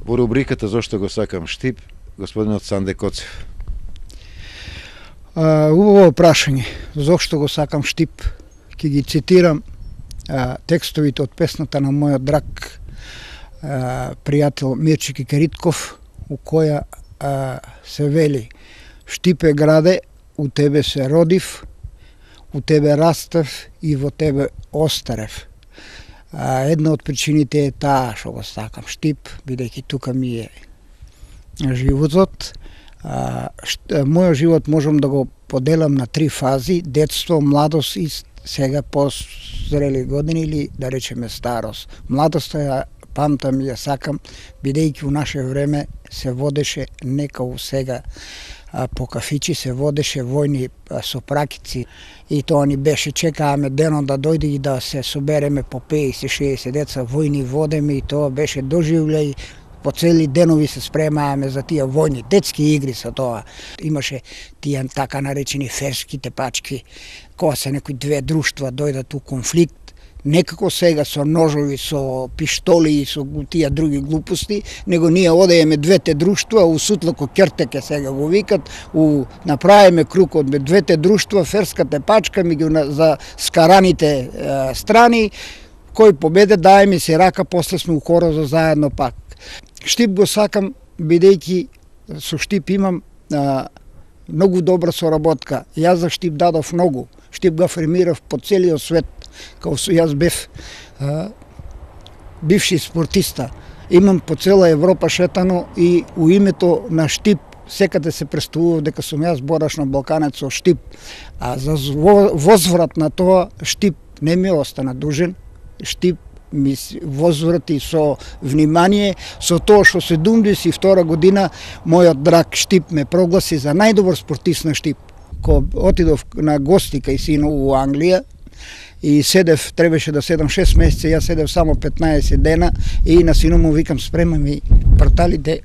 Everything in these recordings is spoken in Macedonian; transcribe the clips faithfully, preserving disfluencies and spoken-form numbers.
Во рубриката "Зошто го сакам Штип", господинот Санде Коцев. А, убаво прашање. Зошто го сакам Штип? Ќе ги цитирам а, текстовите од песната на мојот драг а, пријател Мирчики Керитков, у која а, се вели: Штипе граде, у тебе се родив, у тебе растев и во тебе остарев. А, една од причините е таа што го сакам Штип, бидејќи тука ми е животот. А, шт, мојот живот можам да го поделам на три фази: детство, младост и сега позрели години, или да речеме старост. Младоста ја памтам и ја сакам, бидејќи у наше време се водеше не као сега а, по кафичи, се водеше војни а, со пракици, и тоа ни беше, чекаваме денот да дојде и да се собереме по пеесет шеесет деца, војни водеме, и тоа беше доживлеј. По цели денови се спремаваме за тие војни, детски игри со тоа. Имаше тие така наречени ферски тепачки, кога се некои две друштва дојдат у конфликт, некако сега со ножови, со пиштоли и со тие други глупости, него ние одееме двете друштва, у сутлако кертеке сега го викат, у направиме круг од двете друштва, ферска тепачка меѓу за скараните е, страни, кој победе даеме си рака, после сме у корозо заедно пак. Штип го сакам, бидејќи со Штип имам а, многу добра соработка. Јас за Штип дадов многу. Штип го афирмирав по целиот свет, као со јас бев а, бивши спортиста. Имам по цела Европа шетано и у името на Штип секаде се представував дека сум јас бораш на Балканец со Штип. А за возврат на тоа, Штип не ми остана дужен. Штип ми возврати со внимание, со тоа што седумдесет и втора година мојот драг Штип ме прогласи за најдобар спортист на Штип. Кога отидов на гости кај сино у Англија и седев, требаше да седам шест месеци, јас седев само петнаесет дена, и на сино му викам: спрема ми порталите,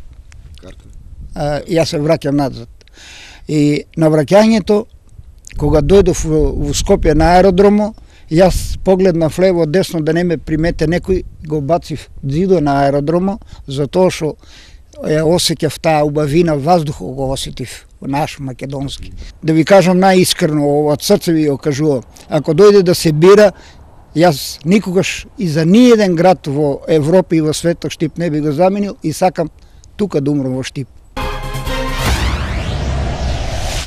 а, и јас се враќам назад. И на враќањето, кога дојдов во Скопје на аеродромо, јас погледнав лево десно да не ме примете некој, го бацив дзидо на аеродромо, затоа што ја осеќав таа убавина ваздух, го осетив наш македонски. Да ви кажам најискрено, од срце ви го кажувам, ако дојде да се бира, јас никогаш и за ниеден град во Европа и во светот Штип не би го заменил, и сакам тука да умрам во Штип.